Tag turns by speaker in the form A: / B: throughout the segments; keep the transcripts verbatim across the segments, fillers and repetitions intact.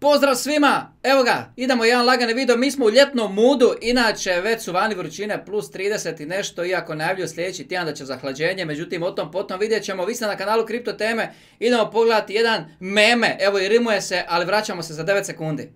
A: Pozdrav svima, evo ga, idemo jedan lagani video, mi smo u ljetnom moodu, inače već su vani vrućine plus trideset i nešto, iako najavljuju sljedeći tjedan da će zahlađenje, međutim o tom potom vidjet ćemo, vi ste na kanalu Kripto Teme, idemo pogledati jedan meme, evo i rimuje se, ali vraćamo se za devet sekundi.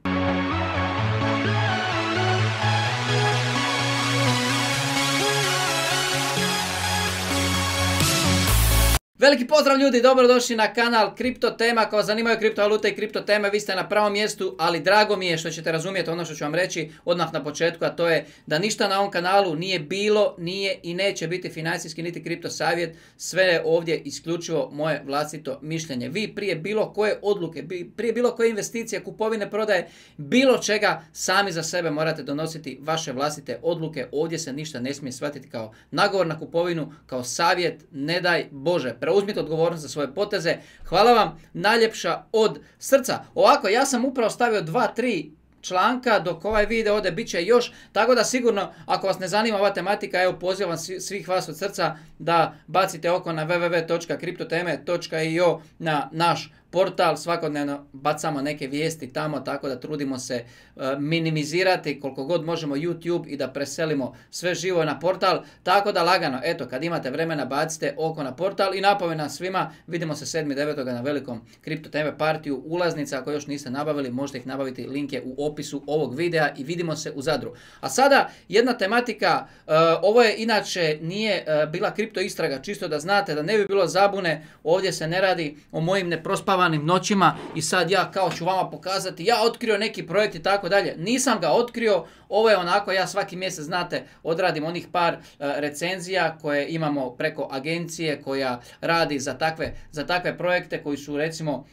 A: Veliki pozdrav ljudi, dobrodošli na kanal Kripto Tema. Ako vas zanimaju kriptovalute i kripto teme, vi ste na pravom mjestu, ali drago mi je što ćete razumjeti ono što ću vam reći odmah na početku, a to je da ništa na ovom kanalu nije bilo, nije i neće biti financijski niti kripto savjet, sve je ovdje isključivo moje vlastito mišljenje. Vi prije bilo koje odluke, prije bilo koje investicije, kupovine, prodaje, bilo čega, sami za sebe morate donositi vaše vlastite odluke. Ovdje se ništa ne smije shvatiti kao nagovor na kupovinu, kao savjet, ne daj Bože. Preuzmite odgovornost za svoje poteze. Hvala vam najljepša od srca. Ovako, ja sam upravo stavio dva tri članka dok ovaj video ode, bit će još, tako da sigurno ako vas ne zanima ova tematika, evo pozivam svih vas od srca da bacite oko na w w w točka kriptoteme točka i o na naš portal, svakodnevno bacamo neke vijesti tamo, tako da trudimo se uh, minimizirati koliko god možemo YouTube i da preselimo sve živo na portal, tako da lagano, eto, kad imate vremena bacite oko na portal i napomena svima, vidimo se sedmog devetog na velikom Kripto Teme partiju ulaznica, ako još niste nabavili, možete ih nabaviti, link je u opisu ovog videa i vidimo se u Zadru. A sada jedna tematika, uh, ovo je inače nije uh, bila kripto istraga, čisto da znate, da ne bi bilo zabune, ovdje se ne radi o mojim neprospavanim noćima i sad ja kao ću vama pokazati, ja otkrio neki projekt i tako dalje. Nisam ga otkrio, ovo je onako, ja svaki mjesec, znate, odradim onih par uh, recenzija koje imamo preko agencije koja radi za takve, za takve projekte koji su recimo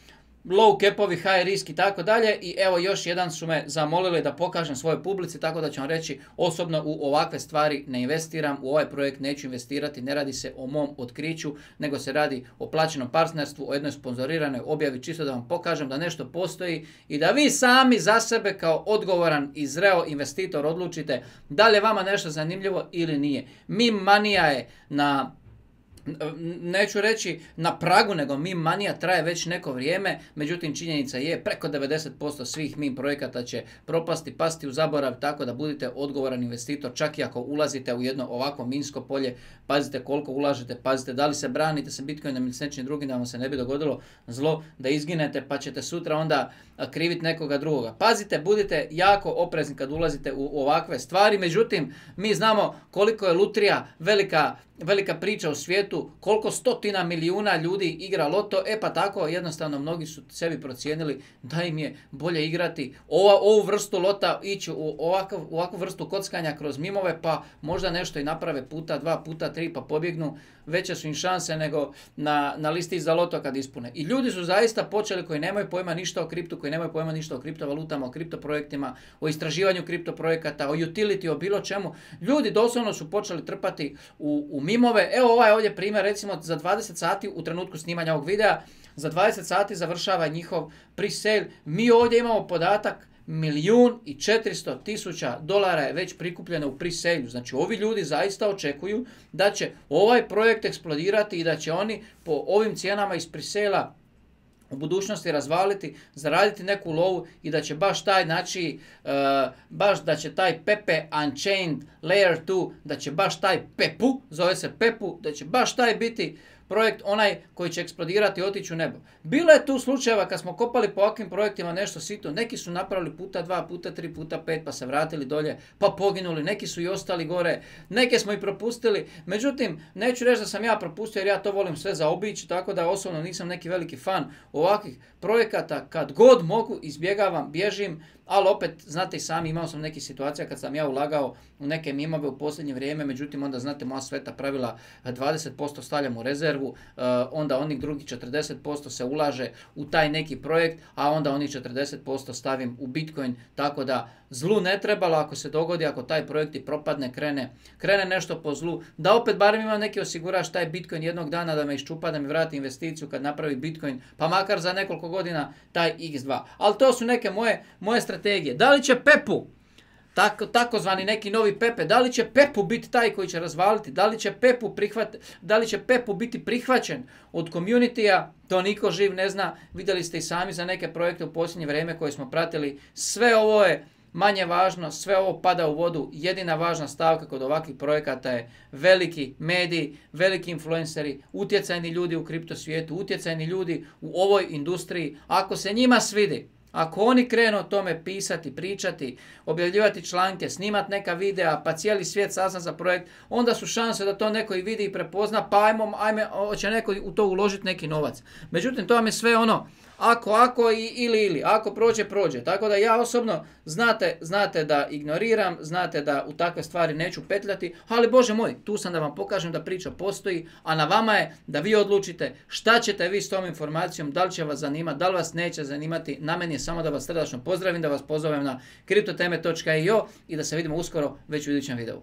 A: low capovi, high risk i tako dalje, i evo još jedan su me zamolili da pokažem svojoj publici, tako da ću vam reći, osobno u ovakve stvari ne investiram, u ovaj projekt neću investirati, ne radi se o mom otkriću, nego se radi o plaćenom partnerstvu, o jednoj sponzoriranoj objavi, čisto da vam pokažem da nešto postoji i da vi sami za sebe kao odgovoran i zreo investitor odlučite da li je vama nešto zanimljivo ili nije. Meme manija je na... neću reći na pragu, nego meme manija traje već neko vrijeme, međutim činjenica je preko devedeset posto svih meme projekata će propasti, pasti u zaborav, tako da budite odgovoran investitor, čak i ako ulazite u jedno ovako minsko polje, pazite koliko ulažete, pazite da li se branite sa Bitcoinom ili s nečim drugim, da vam se ne bi dogodilo zlo, da izginete pa ćete sutra onda kriviti nekoga drugoga. Pazite, budite jako oprezni kad ulazite u ovakve stvari, međutim mi znamo koliko je lutrija velika velika priča u svijetu, koliko stotina milijuna ljudi igra loto, e pa tako jednostavno mnogi su sebi procijenili da im je bolje igrati ova, ovu vrstu lota, ići u ovakav, ovakvu vrstu kockanja kroz mimove, pa možda nešto i naprave puta dva, puta tri, pa pobjegnu, veće su im šanse nego na, na listi za loto kad ispune. I ljudi su zaista počeli koji nemaju pojma ništa o kriptu, koji nemaju pojma ništa o kriptovalutama, o kriptoprojektima, o istraživanju kriptoprojekata, o utility, o bilo čemu. Ljudi doslovno su počeli trpati u, u mimove. Evo ovaj ovdje primjer, recimo za dvadeset sati u trenutku snimanja ovog videa, za dvadeset sati završava njihov pre-sale. Mi ovdje imamo podatak milijun i četiristo tisuća dolara je već prikupljeno u pre-sale. Znači ovi ljudi zaista očekuju da će ovaj projekt eksplodirati i da će oni po ovim cijenama iz pre-sale-a u budućnosti razvaliti, zaraditi neku lovu i da će baš taj, znači, uh, baš da će taj Pepe Unchained Layer dva, da će baš taj Pepu, zove se Pepu, da će baš taj biti projekt onaj koji će eksplodirati i otići u nebo. Bilo je tu slučajeva kad smo kopali po ovakvim projektima nešto sitno, neki su napravili puta dva, puta tri, puta pet, pa se vratili dolje, pa poginuli, neki su i ostali gore, neke smo i propustili, međutim, neću reći da sam ja propustio jer ja to volim sve zaobići, tako da osobno nisam neki veliki fan ovakvih projekata, kad god mogu izbjegavam, bježim, ali opet, znate i sami, imao sam nekih situacija kad sam ja ulagao u neke mimove u posljednje vrijeme, međutim onda znate moja sveta pravila, dvadeset posto stavljam u rezervu, onda onih drugih četrdeset posto se ulaže u taj neki projekt, a onda onih četrdeset posto stavim u Bitcoin, tako da zlu ne trebalo ako se dogodi, ako taj projekt i propadne, krene, krene nešto po zlu, da opet barem imam neki osigurač taj Bitcoin jednog dana da me iščupa, da mi vrati investiciju kad napravi Bitcoin, pa makar za nekoliko godina taj iks dva. Ali to su neke moje, moje strategije. Da li će Pepu tako, takozvani neki novi Pepe, da li će Pepu biti taj koji će razvaliti, da li će Pepu, prihvat, da li će Pepu biti prihvaćen od community-a, to niko živ ne zna. Vidjeli ste i sami za neke projekte u posljednje vrijeme koje smo pratili. Sve ovo je manje važno, sve ovo pada u vodu. Jedina važna stavka kod ovakvih projekata je veliki mediji, veliki influenceri, utjecajni ljudi u kripto svijetu, utjecajni ljudi u ovoj industriji. Ako se njima svidi, ako oni krenu o tome pisati, pričati, objavljivati članke, snimati neka videa, pa cijeli svijet sazna za projekt, onda su šanse da to neko i vidi i prepozna, pa ajmo, ajme, hoće neko u to uložiti neki novac. Međutim, to vam je sve ono, ako, ako i, ili, ili, ako prođe, prođe. Tako da ja osobno, znate, znate da ignoriram, znate da u takve stvari neću petljati, ali Bože moj, tu sam da vam pokažem da priča postoji, a na vama je da vi odlučite šta ćete vi s tom informacijom, da li će vas zanimati, da li vas neće zanimati. Na meni je samo da vas srdačno pozdravim, da vas pozovem na kriptoteme točka i o i da se vidimo uskoro već u idućem videu.